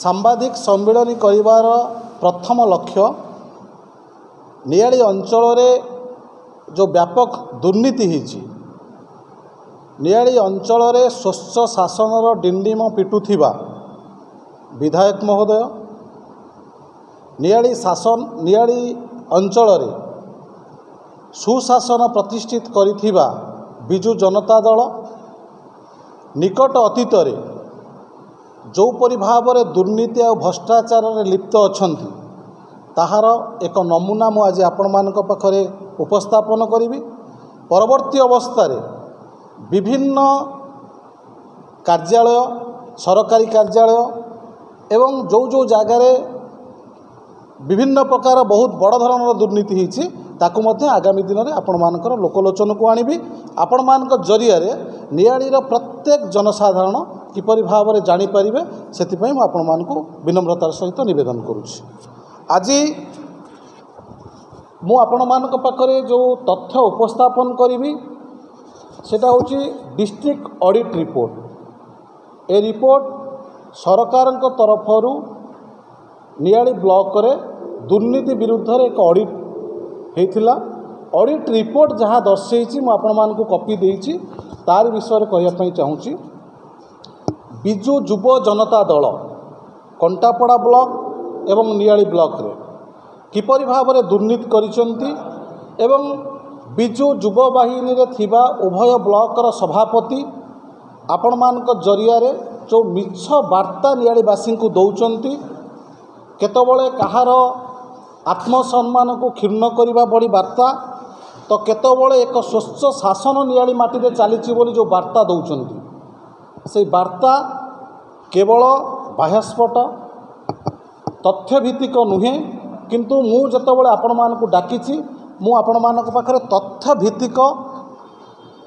ସାମ୍ବାଦିକ ସମ୍ମିଳନୀ କରିବାର ପ୍ରଥମ ଲକ୍ଷ୍ୟ ନିଆଳି ଅଞ୍ଚଳରେ ଯେଉଁ ବ୍ୟାପକ ଦୁର୍ନୀତି ହେଇଛି, ନିଆଳି ଅଞ୍ଚଳରେ ସ୍ୱଚ୍ଛ ଶାସନର ଡିଣ୍ଡିମ ପିଟୁଥିବା ବିଧାୟକ ମହୋଦୟ ନିଆଳି ଅଞ୍ଚଳରେ ସୁଶାସନ ପ୍ରତିଷ୍ଠିତ କରିଥିବା ବିଜୁ ଜନତା ଦଳ ନିକଟ ଅତୀତରେ ଯେଉଁପରି ଭାବରେ ଦୁର୍ନୀତି ଆଉ ଭ୍ରଷ୍ଟାଚାରରେ ଲିପ୍ତ ଅଛନ୍ତି, ତାହାର ଏକ ନମୁନା ମୁଁ ଆଜି ଆପଣମାନଙ୍କ ପାଖରେ ଉପସ୍ଥାପନ କରିବି। ପରବର୍ତ୍ତୀ ଅବସ୍ଥାରେ ବିଭିନ୍ନ କାର୍ଯ୍ୟାଳୟ, ସରକାରୀ କାର୍ଯ୍ୟାଳୟ ଏବଂ ଯେଉଁ ଯେଉଁ ଜାଗାରେ ବିଭିନ୍ନ ପ୍ରକାର ବହୁତ ବଡ଼ ଧରଣର ଦୁର୍ନୀତି ହେଇଛି, ତାକୁ ମଧ୍ୟ ଆଗାମୀ ଦିନରେ ଆପଣମାନଙ୍କର ଲୋକଲୋଚନକୁ ଆଣିବି। ଆପଣମାନଙ୍କ ଜରିଆରେ ନିଆଳିର ପ୍ରତ୍ୟେକ ଜନସାଧାରଣ କିପରି ଭାବରେ ଜାଣିପାରିବେ, ସେଥିପାଇଁ ମୁଁ ଆପଣମାନଙ୍କୁ ବିନମ୍ରତାର ସହିତ ନିବେଦନ କରୁଛି। ଆଜି ମୁଁ ଆପଣମାନଙ୍କ ପାଖରେ ଯେଉଁ ତଥ୍ୟ ଉପସ୍ଥାପନ କରିବି, ସେଟା ହେଉଛି ଡିଷ୍ଟ୍ରିକ୍ଟ ଅଡ଼ିଟ୍ ରିପୋର୍ଟ। ଏ ରିପୋର୍ଟ ସରକାରଙ୍କ ତରଫରୁ ନିଆଳି ବ୍ଲକରେ ଦୁର୍ନୀତି ବିରୁଦ୍ଧରେ ଏକ ଅଡ଼ିଟ୍ ହେଇଥିଲା। ଅଡ଼ିଟ୍ ରିପୋର୍ଟ ଯାହା ଦର୍ଶାଇଛି, ମୁଁ ଆପଣମାନଙ୍କୁ କପି ଦେଇଛି, ତାରି ବିଷୟରେ କହିବା ପାଇଁ ଚାହୁଁଛି। ବିଜୁ ଯୁବ ଜନତା ଦଳ କଣ୍ଟାପଡ଼ା ବ୍ଲକ ଏବଂ ନିଆଳି ବ୍ଲକରେ କିପରି ଭାବରେ ଦୁର୍ନୀତି କରିଛନ୍ତି ଏବଂ ବିଜୁ ଯୁବ ବାହିନୀରେ ଥିବା ଉଭୟ ବ୍ଲକର ସଭାପତି ଆପଣମାନଙ୍କ ଜରିଆରେ ଯେଉଁ ମିଛ ବାର୍ତ୍ତା ନିଆଳିବାସୀଙ୍କୁ ଦେଉଛନ୍ତି, କେତେବେଳେ କାହାର ଆତ୍ମସମ୍ମାନକୁ କ୍ଷୁଣ୍ଣ କରିବା ଭଳି ବାର୍ତ୍ତା ତ କେତେବେଳେ ଏକ ସ୍ୱଚ୍ଛ ଶାସନ ନିଆଳି ମାଟିରେ ଚାଲିଛି ବୋଲି ଯେଉଁ ବାର୍ତ୍ତା ଦେଉଛନ୍ତି, ସେଇ ବାର୍ତ୍ତା କେବଳ ବାହ୍ୟସ୍ଫଟ, ତଥ୍ୟଭିତ୍ତିକ ନୁହେଁ। କିନ୍ତୁ ମୁଁ ଯେତେବେଳେ ଆପଣମାନଙ୍କୁ ଡାକିଛି, ମୁଁ ଆପଣମାନଙ୍କ ପାଖରେ ତଥ୍ୟଭିତ୍ତିକ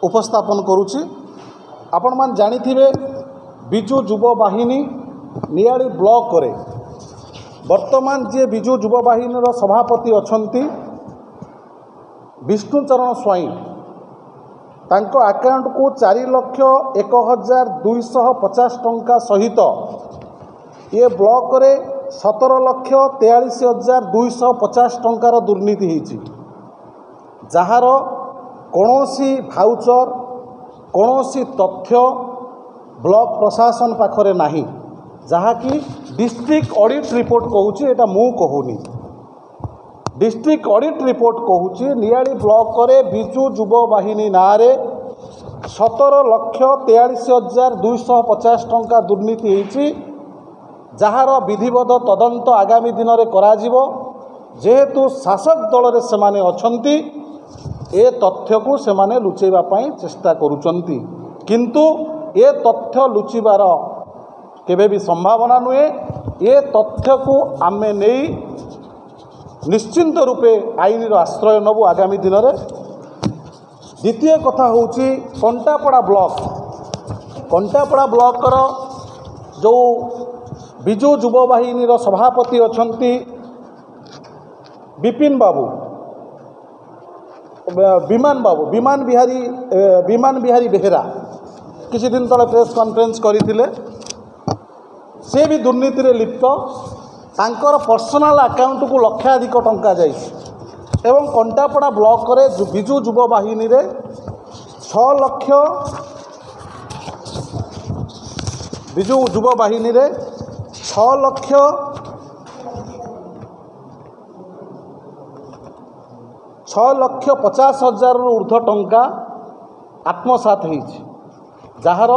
ଉପସ୍ଥାପନ କରୁଛି। ଆପଣମାନେ ଜାଣିଥିବେ, ବିଜୁ ଯୁବ ବାହିନୀ ନିଆଳି ବ୍ଲକରେ ବର୍ତ୍ତମାନ ଯିଏ ବିଜୁ ଯୁବ ବାହିନୀର ସଭାପତି ଅଛନ୍ତି ବିଷ୍ଣୁଚରଣ ସ୍ୱାଇଁ, ତାଙ୍କ ଆକାଉଣ୍ଟକୁ 4,01,250 ଟଙ୍କା ସହିତ ଏ ବ୍ଲକରେ 17,43,250 ଟଙ୍କାର ଦୁର୍ନୀତି ହେଇଛି, ଯାହାର କୌଣସି ଭାଉଚର, କୌଣସି ତଥ୍ୟ ବ୍ଲକ ପ୍ରଶାସନ ପାଖରେ ନାହିଁ, ଯାହାକି ଡିଷ୍ଟ୍ରିକ୍ଟ ଅଡ଼ିଟ୍ ରିପୋର୍ଟ କହୁଛି। ଏଇଟା ମୁଁ କହୁନି, ଡିଷ୍ଟ୍ରିକ୍ଟ ଅଡ଼ିଟ୍ ରିପୋର୍ଟ କହୁଛି ନିଆଳି ବ୍ଲକରେ ବିଜୁ ଯୁବ ବାହିନୀ ନାଁରେ 17,43,250 ଟଙ୍କା ଦୁର୍ନୀତି ହେଇଛି, ଯାହାର ବିଧିବଦ୍ଧ ତଦନ୍ତ ଆଗାମୀ ଦିନରେ କରାଯିବ। ଯେହେତୁ ଶାସକ ଦଳରେ ସେମାନେ ଅଛନ୍ତି, ଏ ତଥ୍ୟକୁ ସେମାନେ ଲୁଚେଇବା ପାଇଁ ଚେଷ୍ଟା କରୁଛନ୍ତି, କିନ୍ତୁ ଏ ତଥ୍ୟ ଲୁଚିବାର କେବେ ବି ସମ୍ଭାବନା ନୁହେଁ। ଏ ତଥ୍ୟକୁ ଆମେ ନେଇ ନିଶ୍ଚିନ୍ତ ରୂପେ ଆଇନର ଆଶ୍ରୟ ନେବୁ ଆଗାମୀ ଦିନରେ। ଦ୍ୱିତୀୟ କଥା ହେଉଛି କଣ୍ଟାପଡ଼ା ବ୍ଲକ। କଣ୍ଟାପଡ଼ା ବ୍ଲକର ଯେଉଁ ବିଜୁ ଯୁବ ବାହିନୀର ସଭାପତି ଅଛନ୍ତି ବିପିନ ବାବୁ, ବିମାନ ବାବୁ, ବିମାନ ବିହାରୀ ବେହେରା, କିଛି ଦିନ ତଳେ ପ୍ରେସ୍ କନଫରେନ୍ସ କରିଥିଲେ। ସେ ବି ଦୁର୍ନୀତିରେ ଲିପ୍ତ। ତାଙ୍କର ପର୍ସନାଲ ଆକାଉଣ୍ଟକୁ ଲକ୍ଷାଧିକ ଟଙ୍କା ଯାଇଛି ଏବଂ କଣ୍ଟାପଡ଼ା ବ୍ଲକରେ ବିଜୁ ଯୁବ ବାହିନୀରେ 6 ଲକ୍ଷ, ବିଜୁ ଯୁବ ବାହିନୀରେ 6 ଲକ୍ଷ 6 ଲକ୍ଷ 50 ହଜାରରୁ ଉର୍ଦ୍ଧ୍ୱ ଟଙ୍କା ଆତ୍ମସାତ ହେଇଛି, ଯାହାର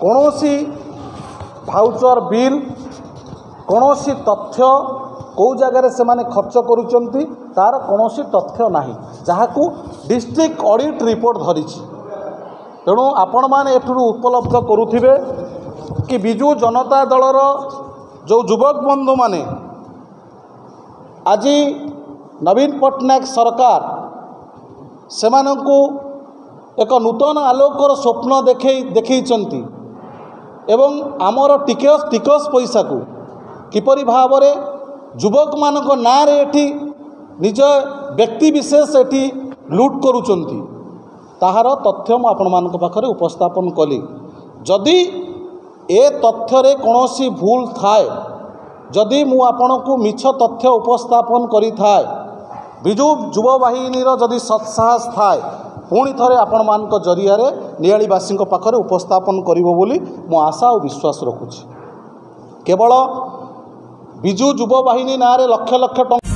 କୌଣସି ଭାଉଚର, ବିଲ୍, କୌଣସି ତଥ୍ୟ, କେଉଁ ଜାଗାରେ ସେମାନେ ଖର୍ଚ୍ଚ କରୁଛନ୍ତି ତା'ର କୌଣସି ତଥ୍ୟ ନାହିଁ, ଯାହାକୁ ଡିଷ୍ଟ୍ରିକ୍ଟ ଅଡ଼ିଟ୍ ରିପୋର୍ଟ ଧରିଛି। ତେଣୁ ଆପଣମାନେ ଏଥିରୁ ଉପଲବ୍ଧ କରୁଥିବେ କି ବିଜୁ ଜନତା ଦଳର ଯେଉଁ ଯୁବକ ବନ୍ଧୁମାନେ ଆଜି ନବୀନ ପଟ୍ଟନାୟକ ସରକାର ସେମାନଙ୍କୁ ଏକ ନୂତନ ଆଲୋକର ସ୍ୱପ୍ନ ଦେଖେଇଛନ୍ତି ଏବଂ ଆମର ଟିକସ ପଇସାକୁ କିପରି ଭାବରେ ଯୁବକମାନଙ୍କ ନାଁରେ ଏଠି ନିଜ ବ୍ୟକ୍ତିବିଶେଷ ଏଠି ଲୁଟ୍ କରୁଛନ୍ତି, ତାହାର ତଥ୍ୟ ମୁଁ ଆପଣମାନଙ୍କ ପାଖରେ ଉପସ୍ଥାପନ କଲି। ଯଦି ଏ ତଥ୍ୟରେ କୌଣସି ଭୁଲ ଥାଏ, ଯଦି ମୁଁ ଆପଣଙ୍କୁ ମିଛ ତଥ୍ୟ ଉପସ୍ଥାପନ କରିଥାଏ, ବିଜୁ ଯୁବ ବାହିନୀର ଯଦି ସତ୍ସାହସ ଥାଏ, ପୁଣି ଥରେ ଆପଣମାନଙ୍କ ଜରିଆରେ ନିଆଳିବାସୀଙ୍କ ପାଖରେ ଉପସ୍ଥାପନ କରିବ ବୋଲି ମୁଁ ଆଶା ଓ ବିଶ୍ୱାସ ରଖୁଛି। କେବଳ ବିଜୁ ଯୁବ ବାହିନୀ ନାଁରେ ଲକ୍ଷ ଲକ୍ଷ ଟଙ୍କା